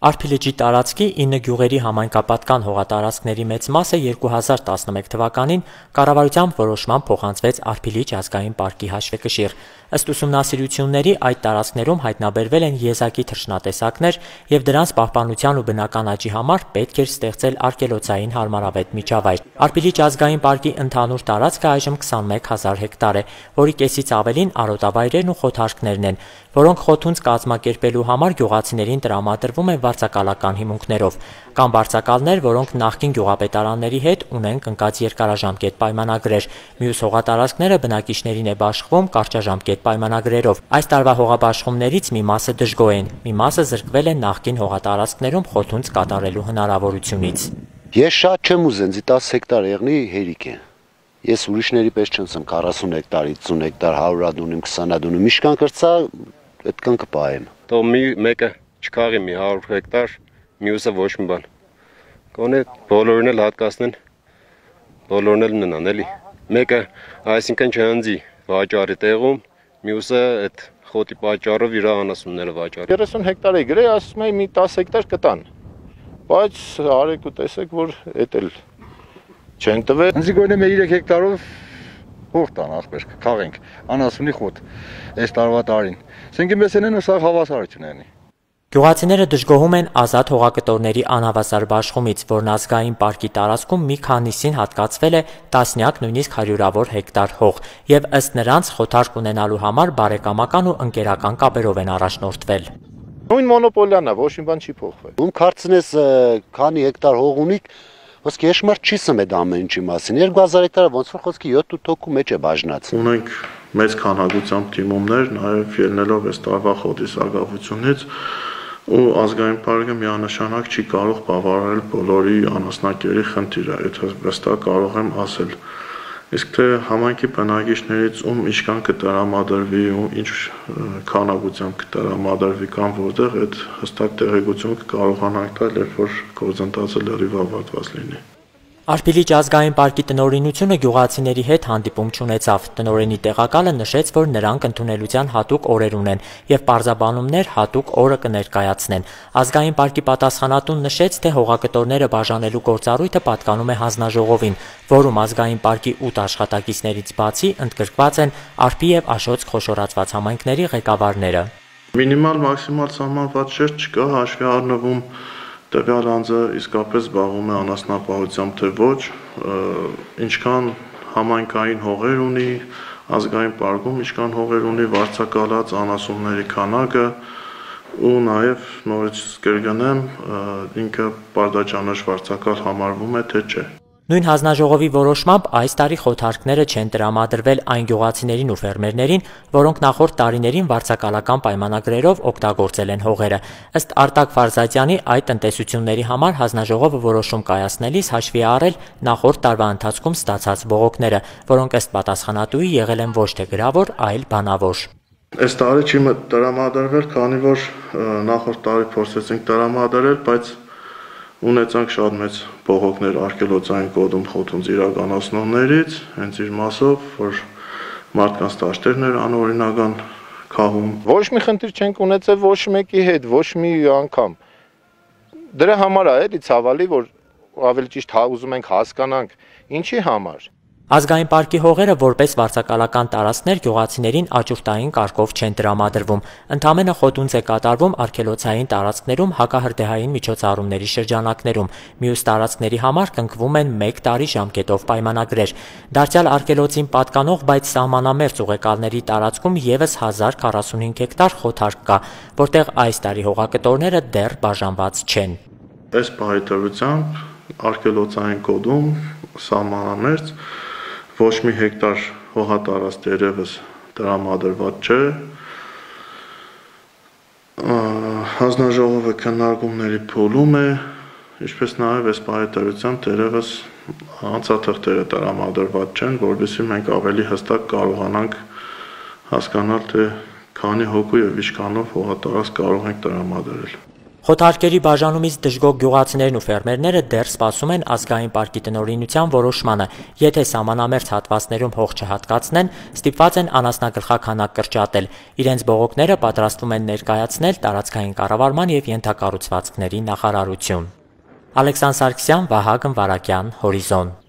Արփի լճի տարածքի 9 գյուղերի համայնքապատկան հողատարածքների մեծ մասը 2011 թվականին կառավարության որոշմամբ փոխանցվեց Արփի լիճ ազգային պարկի հաշվեկշիռ։ Ըստ ուսումնասիրությունների այդ տարածքներում հայտնաբերվել են եզակի թռչնատեսակներ եւ դրանց պահպանության ու բնական աճի համար պետք էր ստեղծել արգելոցային հարմարավետ միջավայր։ Արփի լիճ ազգային պարկի ընդհանուր տարածքը այժմ 21000 հեկտար է, որի կեսից ավելին արոտավայրերն ու խոթարքներն են, որոնք խոթունց կազմակերպելու համար գյուղացիներին տրամադրվում են վարձակալական հիմունքներով։ Կան վարձակալներ, որոնք նախկին գյուղապետարանների հետ ունեն կնքած երկարաժամկետ պայմանագրեր։ Մյուս հողատարածքները բնակիչներին է բաշխվում կարճաժամկետ պայմանագրերով։ Այս տարվա հողաբաշխումներից մի մասը դժգոհ են, մի մասը զրկվել են նախկին հողատարածքներում խոթունց կատարելու հնարավորությունից։ Ես շատ չեմ ուզեն, 10 հեկտար եղնի հերիք է։ Ես ուրիշների պես չնցեմ 40 հեկտար, 50 հեկտար, 100 դունիմ, 20 դունիմ, միշկան կրծա, այդքան կպահեմ։ Թող մեկը չքաղի մի 100 հեկտար, մյուսը ոչ մի բան։ Գոնե բոլորին էլ հատկացնեն, բոլորն էլ մնան էլի։ Մեկը այսինքն չհանձի վաճառի տեղում, մյուսը այդ խոտի պատճառով իր անասունները վաճառի։ 30 հեկտար է գրե, ասում եմ մի 10 հեկտար կտան։ Բայց արեք ու տեսեք, որ էդ էլ չեն տվել։ Ինձ գոնե 3 հեկտարով հող տան ախպեր, քաղենք, անասունի խոտ, այս տարվա տարին։ Սենք մեզ են սա հավասարություն ունի։ Գյուղացիները դժգոհում են ազատ հողակտորների անհավասար բաշխումից, որն ազգային պարկի տարածքում մի քանիսին հատկացվել է տասնյակ, նույնիսկ հարյուրավոր հեկտար հող, եւ ըստ նրանց խոթարք ունենալու համար բարեկամական ու ընկերական կապերով են առաջնորդվել։ Նույն մոնոպոլիան է, ոչ մի բան չի փոխվել։ Ում կարծնես քանի հեկտար հող ունիք, ոսկե եշմար չի սմեդ ամեն ինչի մասին։ 2000 հեկտարը ոնց որ խոսքի 7-8 հոգու մեջ է բաժնած։ Ունենք մեծ քանակությամբ թիմումներ, նաև ելնելով այս տարվա խոտի սակավությունից, ու ազգային պարկը միանշանակ չի կարող բավարարել բոլորի անասնակերի խնդիրը, եթե վստահ կարող եմ ասել։ Իսկ թե համայնքի բնակիչներից ում ինչքան կտրամադրվի ու ինչ քանակությամբ կտրամադրվի կամ որտեղ, այդ հստակ տեղեկություն կկարողանանք տալ, երբ որ գործընթացը լրիվ ավարտված լինի։ Արփի լիճ ազգային պարկի տնօրինությունը գյուղացիների հետ հանդիպում չունեցավ։ Տնօրենի տեղակալը նշեց, որ նրանք ընդունելության հատուկ օրեր ունեն եւ պարզաբանումներ հատուկ օրը կներկայացնեն։ Ազգային պարկի պատասխանատուն նշեց, թե հողակտորները բաժանելու գործառույթը պատկանում է հանձնաժողովին, որում ազգային պարկի 8 աշխատակիցներից բացի ընդգրկված են Արփի եւ Աշոց խոշորացված համայնքների ղեկավարները։ Մինիմալ մաքսիմալ սահմանված շերտ չկա, հաշվի առնվում տվյալ անձը իսկապես զբաղվում է անասնապահությամբ թե ոչ, ինչքան համայնքային հողեր ունի ազգային պարկում, ինչքան հողեր ունի վարձակալած անասունների քանակը ու նաև նորից կրկնեմ, ինքը պարտաճանաչ վարձակալ համարվում է թե չէ։ Նույն հանձնաժողովի որոշմամբ այս տարի խոթարքները չեն տրամադրվել այն գյուղացիներին ու ֆերմերներին, որոնք նախորդ տարիներին վարձակալական պայմանագրերով օգտագործել են հողերը։ Ըստ Արտակ Ֆարզատյանի, այդ տնտեսությունների համար հանձնաժողովը որոշում կայացնելիս հաշվի է առել նախորդ տարվա ընթացքում ստացած բողոքները, որոնք ըստ պատասխանատուի եղել են ոչ թե գրավոր, այլ բանավոր։ Այս տարի չի տրամադրվել, քանի որ նախորդ տարի փորձեցինք տրամադրել, բայց ունեցանք շատ մեծ բողոքներ արգելոցային կոդում խոթունց իրականացնողներից, հենց իր մասով, որ մարդկանց դաշտերն էր անօրինական քահում։ Ոչ մի խնդիր չենք ունեցել ոչ մեկի հետ, ոչ մի անգամ։ Դրա համար է էլի ցավալի, որ ավելի ճիշտ ուզում ենք հասկանանք, ինչի համար։ Ազգային պարկի հողերը որպես վարձակալական տարածքներ գյուղացիներին աճուրդային կարգով չեն տրամադրվում։ Ընդամենը խոթունց է կատարվում արգելոցային տարածքներում հակահրդեհային միջոցառումների շրջանակներում։ Մյուս տարածքների համար կնքվում են 1 տարի ժամկետով պայմանագրեր։ Դարձյալ արգելոցին պատկանող, բայց սահմանամերձ ուղեկալների տարածքում եւս 1045 հեկտար խոթարք կա, որտեղ այս տարի հողակտորները դեռ բաժանված չեն։ Այս պահեթերությամբ արգելոցային կոդում սահմանամերձ ոչ մի հեկտար հողատարածք երևս տրամադրված չէ։ Հանձնաժողովը քննարկումների փուլում է, ինչպես նաև այս պահեթերությամբ դերևս անցաթղթերը տրամադրված չեն, որովհետև մենք ավելի հստակ կարողանանք հասկանալ, թե քանի հոգու եւ ինչքանով հողատարածք կարող ենք տրամադրել։ Խոթարկերի բաժանումից դժգոհ գյուղացիներն ու ֆերմերները դեռ սպասում են ազգային պարկի տնօրինության որոշմանը, եթե սահմանամերձ հատվածներում հող չհատկացնեն, ստիպված են անասնագլխաքանակ կրճատել, իրենց բողոքները պատրաստվում են ներկայացնել տարածքային կառավարման և ենթակառուցվածքների նախարարություն։ Ալեքսանդր Սարգսյան, Վահագն Վարակյան, Հորիզոն։